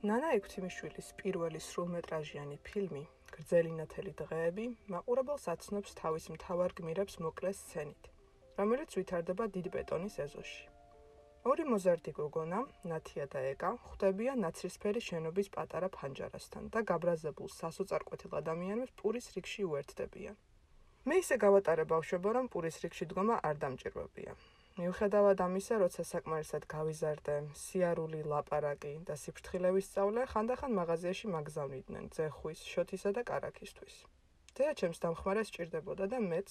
ნანა ექვთიმიშვილის პირველი სრულმეტრაჟიანი ფილმი გრძელი ნათელი დღეები მაყურებელს აცნობს თავის მთავარ გმირებს მოკლე სცენით, რომელიც ვითარდება დიდ ბეტონის ეზოში. ორი მოზარდი გოგონა, ნათია და ეკა, ხვდებიან ნაცრისფერი შენობის პატარა ფანჯარასთან და გაბრაზებულ სასოწარკვეთილ ადამიანებს პურის რიგში უერთდებიან. მე ისე გავატარე ბავშვობა, რომ პურის რიგში დგომა არ დამჭირვებია. მიუხედავად ამისა, როცა საკმარისად გავიზარდე, სიარული, ლაპარაკი და სიფრთხილების სწავლა ხანდახან მაღაზიაში მაგზავნიდნენ ძეხვის, შოთისა და კარაქისთვის. დედა ჩემს დამხმარეს სჭირდებოდა და მეც,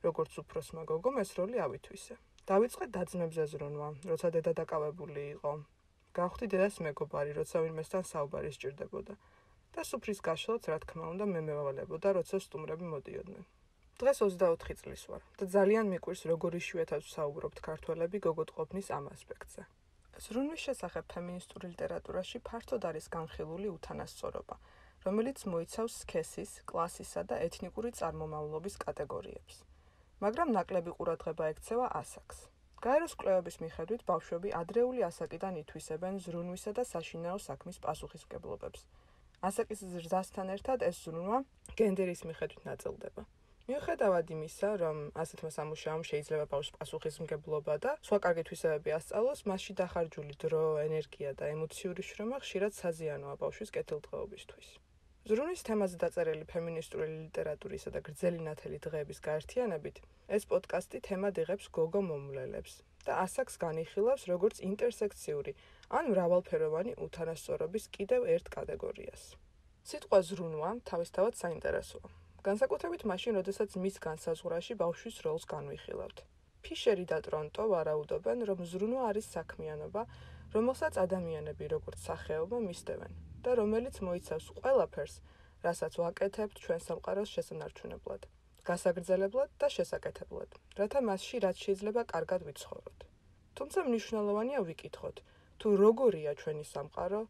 როგორც უფროსმა გოგომ, ეს როლი ავითვისე. დავიწყე დაძმებზე ზრუნვა, როცა დედა დაკავებული იყო. გავხდი დედას მეგობარი, როცა ვინმესთან საუბარი სჭირდებოდა და სუფრის გაშლაც, რა თქმა უნდა, მე მევალებოდა, როცა სტუმრები მოდიოდნენ. დღეს 24 წლის ვარ და ძალიან მიყვირს, როგორ იშვიათად ვსაუბრობთ ქართველები გოგოტყობნის ამ ასპექტზე. ზრუნვის შესახებ ფემინისტური ლიტერატურაში ფართოდ არის განხილული უთანასწორობა, რომელიც მოიცავს სქესის, კლასისა და ეთნიკური წარმომავლობის კატეგორიებს. მაგრამ ნაკლები ყურადღება ექცევა ასაკს. გაეროს კვლევების მიხედვით ბავშვები ადრეული ასაკიდან ითვისებენ ზრუნვისა და საშინაო საქმის პასუხისმგებლობებს. ასაკის ზრდასთან ერთად ეს ზრუნვა გენდერის მიხედვით ნაწილდება. მიუხედავად იმისა, რომ ასეთმა სამუშაომ შეიძლება ბავშვს პასუხისმგებლობა და სხვა კარგი თვისებები ასწავლოს, მასში დახარჯული დრო, ენერგია და ემოციური შრომა ხშირად საზიანოა ბავშვის კეთილდღეობისთვის. ზრუნვის თემაზე დაწერილი ფემინისტური ლიტერატურისა და გრძელი ნათელი დღეების გაერთიანებით, ეს პოდკასტი თემად იღებს გოგო მომვლელებს და ასაკს განიხილავს როგორც ინტერსექციური ან მრავალფეროვანი უთანასწორობის კიდევ ერთ კატეგორიას. სიტყვა ზრუნვა თავისთავად საინტერესოა. განსაკუთრებით მაშინ, როდესაც მის განსაზღვრაში ბავშვის როლს განვიხილავთ. ფიშერი და ტრონტო ვარაუდობენ, რომ ზრუნვა არის საქმიანობა, რომელსაც ადამიანები როგორც სახეობა მისდევენ და რომელიც მოიცავს ყველაფერს, რასაც ვაკეთებთ ჩვენ სამყაროს შესანარჩუნებლად, გასაგრძელებლად და შესაკეთებლად, რათა მასში რაც შეიძლება კარგად ვიცხოვროთ. თუმცა მნიშვნელოვანია ვიკითხოთ, თუ როგორია ჩვენი სამყარო,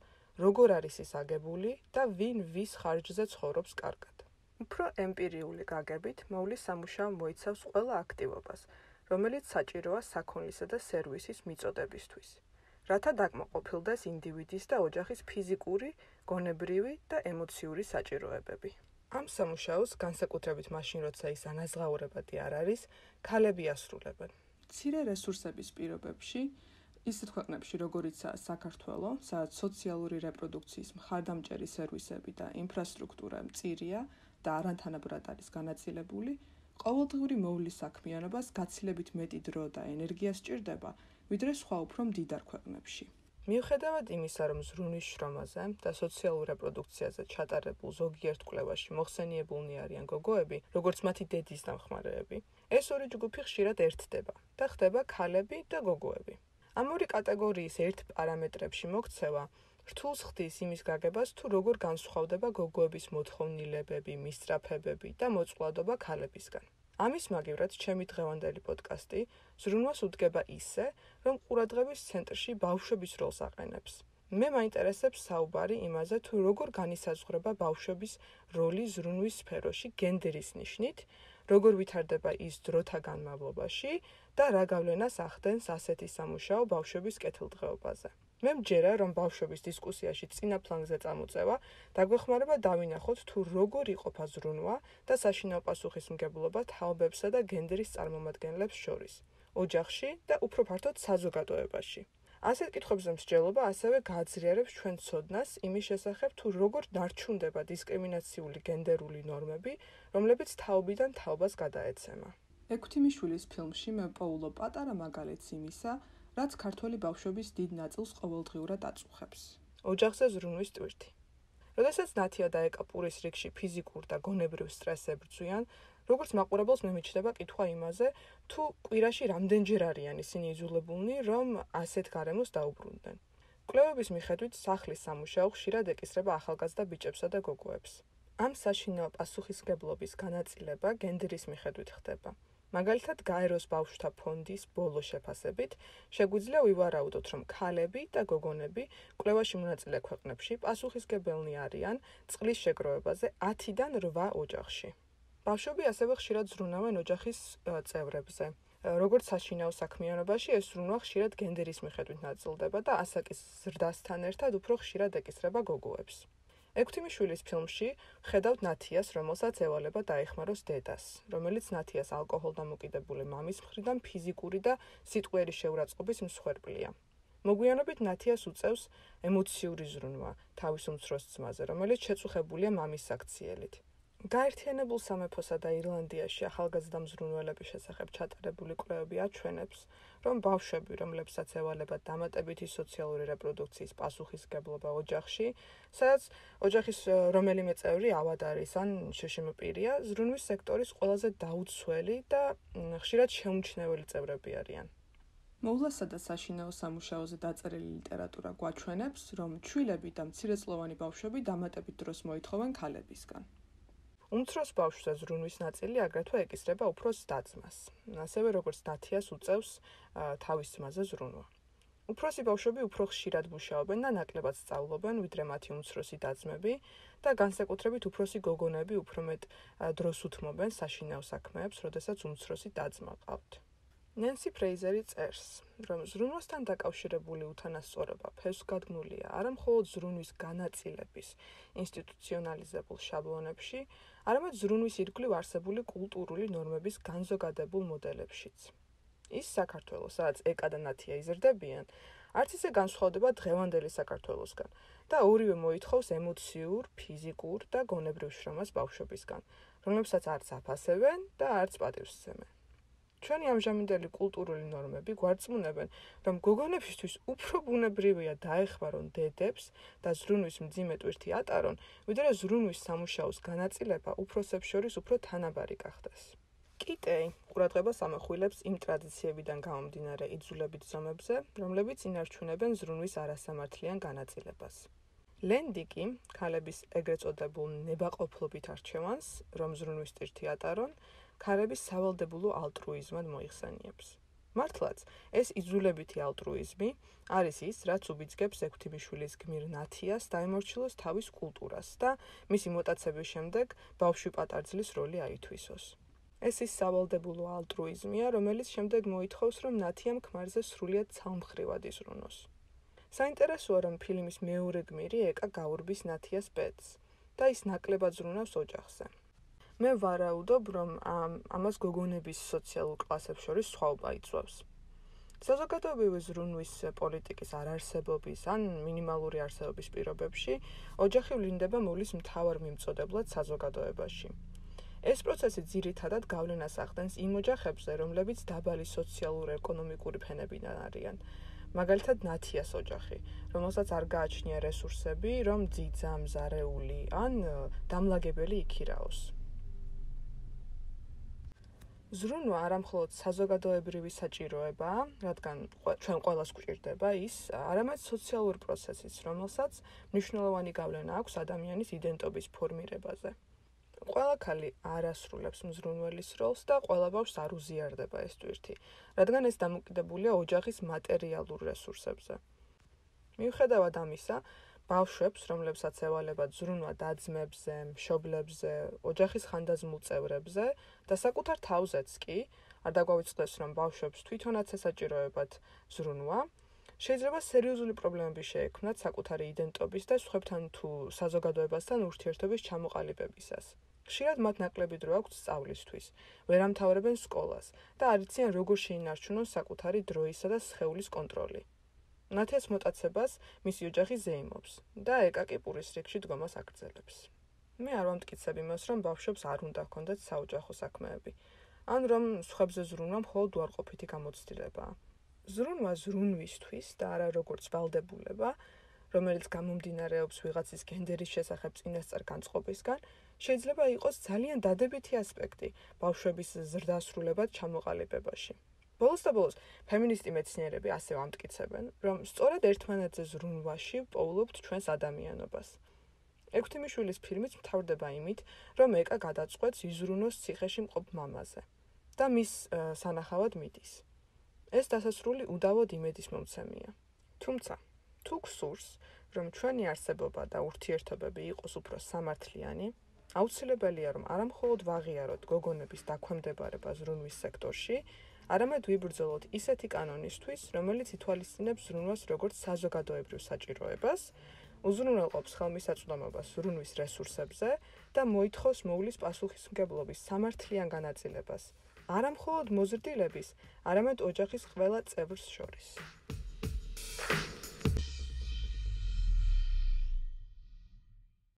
როგორ არის ის აგებული და ვინ ვის ხარჯზე ცხოვრობს კარგად. უფრო ემპირიული გაგებით მოვლის სამუშაო მოიცავს ყველა აქტივობას, რომელიც საჭიროა საქონლისა და სერვისის მიწოდებისთვის, რათა დაკმაყოფილდეს ინდივიდის და ოჯახის ფიზიკური, გონებრივი და ემოციური საჭიროებები. ამ სამუშაოს განსაკუთრებით მაშინ, როცა ის ანაზღაურებადი არ არის, ქალები ასრულებენ. მცირე რესურსების პირობებში, ისეთ ქვეყნებში, როგორიცაა საქართველო, სადაც სოციალური რეპროდუქციის მხარდამჭერი სერვისები და ინფრასტრუქტურა მწირია და არათანაბრად არის განაწილებული, ყოველდღიური მოვლის საქმიანობას გაცილებით მეტი დრო და ენერგია სჭირდება, ვიდრე სხვა უფრო მდიდარ ქვეყნებში. მიუხედავად იმისა, რომ ზრუნვის შრომაზე და სოციალურ რეპროდუქციაზე ჩატარებულ ზოგიერთ კვლევაში მოხსენიებულნი არიან გოგოები, როგორც მათი დედის დამხმარეები, ეს ორი ჯგუფი ხშირად ერთდება და ხდება ქალები და გოგოები. ამ ორი კატეგორიის ერთ პარამეტრებში მოქცევა რთულს ხდის იმის გაგებას, თუ როგორ განსხვავდება გოგოების მოთხოვნილებები, მისწრაფებები და მოწყვლადობა ქალებისგან. ამის მაგივრად ჩემი დღევანდელი პოდკასტი ზრუნვას უდგება ისე, რომ ყურადღების ცენტრში ბავშვების როლს აყენებს. მე მაინტერესებს საუბარი იმაზე, თუ როგორ განისაზღვრება ბავშვების როლი ზრუნვის სფეროში გენდერის ნიშნით, როგორ ვითარდება ის დროთა განმავლობაში და რა გავლენას ახდენს ასეთი სამუშაო ბავშვების კეთილდღეობაზე. მე მჯერა, რომ ბავშვების დისკუსიაში წინა ფლანგზე წამოწევა დაგვეხმარება დავინახოთ, თუ როგორ იყოფა ზრუნვა და საშინაო პასუხისმგებლობა თაობებსა და გენდერის წარმომადგენლებს შორის, ოჯახში და უფრო ფართოდ საზოგადოებაში. ასეთ კითხვებზე მსჯელობა ასევე გააძლიერებს ჩვენ ცოდნას იმის შესახებ, თუ როგორ დარჩუნდება დისკრიმინაციული გენდერული ნორმები, რომლებიც თაობიდან თაობას გადაეცემა. ექვთიმიშვილის ფილმში მე პოულობ პატარა მაგალითს იმისა, რაც ქართველი ბავშვების დიდ ნაწილს ყოველდღიურად აწუხებს. ოჯახზე ზრუნვის ტვირთი. როდესაც ნათია და ეკა პურის რიგში ფიზიკურ და გონებრივ სტრესს ებრძვიან, როგორც მაყურებელს მემიჩნდება კითხვა იმაზე, თუ კვირაში რამდენჯერ არიან ისინი იძულებულნი, რომ ასეთ გარემოს დაუბრუნდნენ. კვლევების მიხედვით სახლის სამუშაო ხშირად ეკისრება ახალგაზრდა ბიჭებსა და გოგოებს. ამ საშინაო პასუხისმგებლობის განაწილება გენდერის მიხედვით ხდება. მაგალითად, გაეროს ბავშვთა ფონდის ბოლო შეფასებით შეგვიძლია ვივარაუდოთ, რომ ქალები და გოგონები კვლევაში მონაწილე ქვეყნებში პასუხისმგებელნი არიან წყლის შეგროვებაზე 10-დან 8 ოჯახში. ბავშვები ასევე ხშირად ზრუნავენ ოჯახის წევრებზე, როგორც საშინაო საქმიანობაში, ეს ზრუნვა ხშირად გენდერის მიხედვით ნაწილდება და ასაკის ზრდასთან ერთად უფრო ხშირად ეკისრება გოგოებს. ექვთიმიშვილის ფილმში ხედავთ ნათიას, რომელსაც ევალება დაეხმაროს დედას, რომელიც ნათიას ალკოჰოლდამოკიდებული მამის მხრიდან ფიზიკური და სიტყვიერი შეურაცხყოფის მსხვერპლია. მოგვიანებით ნათიას უწევს ემოციური ზრუნვა თავის უმცროს ძმაზე, რომელიც შეწუხებულია მამის საქციელით. გაერთიანებულ სამეფოსა და ირლანდიაში ახალგაზრდა მზრუნველების შესახებ ჩატარებული კვლევები აჩვენებს, რომ ბავშვები, რომლებსაც ევალება დამატებითი სოციალური რეპროდუქციის პასუხისმგებლობა ოჯახში, სადაც ოჯახის რომელიმე წევრი ავად არის ან შშმ პირია, ზრუნვის სექტორის ყველაზე დაუცველი და ხშირად შეუმჩნეველი წევრები არიან. მოვლასა და საშინაო სამუშაოზე დაწერილი ლიტერატურა გვაჩვენებს, რომ ჩვილები და მცირეწლოვანი ბავშვები დამატებით დროს მოითხოვენ ქალებისგან. უმცროს ბავშვზე ზრუნვის ნაწილი აგრეთვე ეკისრება უფროს და-ძმას, ასევე როგორც ნათიას უწევს თავის ძმაზე ზრუნვა. უფროსი ბავშვები უფრო ხშირად მუშაობენ და ნაკლებად სწავლობენ, ვიდრე მათი უმცროსი და-ძმები და განსაკუთრებით უფროსი გოგონები უფრო მეტ დროს უთმობენ საშინაო საქმეებს, როდესაც უმცროსი და-ძმა ყავთ. ნენსი ფრეიზერი წერს, რომ ზრუნვასთან დაკავშირებული უთანასწორობა ფესვგადგმულია არა მხოლოდ ზრუნვის განაწილების ინსტიტუციონალიზებულ შაბლონებში, არამედ ზრუნვის ირგვლივ არსებული კულტურული ნორმების განზოგადებულ მოდელებშიც. ის საქართველო, სადაც ეკა და ნათია იზრდებიან, არც ისე განსხვავდება დღევანდელი საქართველოსგან და ორივე მოითხოვს ემოციურ, ფიზიკურ და გონებრივ შრომას ბავშვებისგან, რომლებსაც არც აფასებენ და არც პატივს სცემენ. ჩვენი ამჟამინდელი კულტურული ნორმები გვარწმუნებენ, რომ გოგონებისთვის უფრო ბუნებრივია დაეხმარონ დედებს და ზრუნვის მძიმე ტვირთი ატარონ, ვიდრე ზრუნვის სამუშაოს განაწილება უფროსებს შორის უფრო თანაბარი გახდეს. კიტეი ყურადღებას ამახვილებს იმ ტრადიციებიდან გამომდინარე იძულებით ზომებზე, რომლებიც ინარჩუნებენ ზრუნვის არასამართლიან განაწილებას. ლენდი კი ქალების ეგრეთ წოდებულ ნებაყოფლობით არჩევანს, რომ ზრუნვის ტვირთი ატარონ, ქალების სავალდებულო ალტრუიზმად მოიხსენიებს. მართლაც, ეს იძულებითი ალტრუიზმი არის ის, რაც უბიძგებს ექვთიმიშვილის გმირ ნათიას დაემორჩილოს თავის კულტურას და მისი მოტაცების შემდეგ ბავშვი პატარძლის როლი აითვისოს. ეს ის სავალდებულო ალტრუიზმია, რომელიც შემდეგ მოითხოვს, რომ ნათიამ ქმარზე სრულიად ცალმხრივად იზრუნოს. საინტერესოა, რომ ფილმის მეორე გმირი ეკა გაურბის ნათიას ბედს და ის ნაკლებად ზრუნავს ოჯახზე. მე ვარაუდობ, რომ ამას გოგონების სოციალურ კლასებს შორის სხვაობა იწვევს. საზოგადოებრივი ზრუნვის პოლიტიკის არარსებობის ან მინიმალური არსებობის პირობებში ოჯახი ვლინდება მოვლის მთავარ მიმწოდებლად საზოგადოებაში. ეს პროცესი ძირითადად გავლენას ახდენს იმ ოჯახებზე, რომლებიც დაბალი სოციალურ-ეკონომიკური ფენებიდან არიან. მაგალითად ნათიას ოჯახი, რომელსაც არ გააჩნია რესურსები, რომ ძიძა, მზარეული ან დამლაგებელი იქირაოს. ზრუნვა არა მხოლოდ საზოგადოებრივი საჭიროებაა, რადგან ჩვენ ყველას გვჭირდება ის, არამედ სოციალური პროცესიც, რომელსაც მნიშვნელოვანი გავლენა აქვს ადამიანის იდენტობის ფორმირებაზე. ყველა ქალი არ ასრულებს მზრუნველის როლს და ყველა ბავშვს არ უზიარდება ეს ტვირთი, რადგან ეს დამოკიდებულია ოჯახის მატერიალურ რესურსებზე. მიუხედავად ამისა, ბავშვებს, რომლებსაც ევალებათ ზრუნვა და-ძმებზე, მშობლებზე, ოჯახის ხანდაზმულ წევრებზე და საკუთარ თავზეც კი, არ დაგვავიწყდეს, რომ ბავშვებს თვითონაც ესაჭიროებათ ზრუნვა, შეიძლება სერიოზული პრობლემები შეექმნათ საკუთარი იდენტობის და სხვებთან თუ საზოგადოებასთან ურთიერთობის ჩამოყალიბებისას. ხშირად მათ ნაკლები დრო აქვთ სწავლისთვის, ვერ ამთავრებენ სკოლას და არ იციან როგორ შეინარჩუნონ საკუთარი დროისა და სხეულის კონტროლი. ნათიას მოტაცებას მისი ოჯახი ზეიმობს და ეკა კი პურის რიგში დგომას აგრძელებს. მე არ ვამტკიცებ იმას, რომ ბავშვებს არ უნდა ჰქონდეთ საოჯახო საქმეები, ან რომ სხვებზე ზრუნვა მხოლოდ უარყოფითი გამოცდილებაა. ზრუნვა ზრუნვისთვის და არა როგორც ვალდებულება, რომელიც გამომდინარეობს ვიღაცის გენდერის შესახებ წინასწარ განწყობისგან, შეიძლება იყოს ძალიან დადებითი ასპექტი ბავშვების ზრდასრულებად ჩამოყალიბებაში. ბოლოს და ბოლოს, ფემინისტი მეცნიერები ასე ვამტკიცებენ, რომ სწორედ ერთმანეთზე ზრუნვაში პოულობთ ჩვენს ადამიანობას. ექვთიმიშვილის ფილმიც მთავრდება იმით, რომ ეკა გადაწყვეტს იზრუნოს ციხეში მყოფ მამაზე და მის სანახავად მიდის. ეს დასასრული უდავოდ იმედის მომცემია. თუმცა, თუ გსურს, რომ ჩვენი არსებობა და ურთიერთობები იყოს უფრო სამართლიანი, აუცილებელია, რომ არა მხოლოდ ვაღიაროთ გოგონების დაქვემდებარება ზრუნვის სექტორში, არამედ ვიბრძოლოთ ისეთი კანონისთვის, რომელიც ითვალისწინებს ზრუნვას როგორც საზოგადოებრივ საჭიროებას, უზრუნველყოფს ხელმისაწვდომობას ზრუნვის რესურსებზე და მოითხოვს მოვლის პასუხისმგებლობის სამართლიან განაწილებას, არა მხოლოდ მოზრდილების, არამედ ოჯახის ყველა წევრს შორის.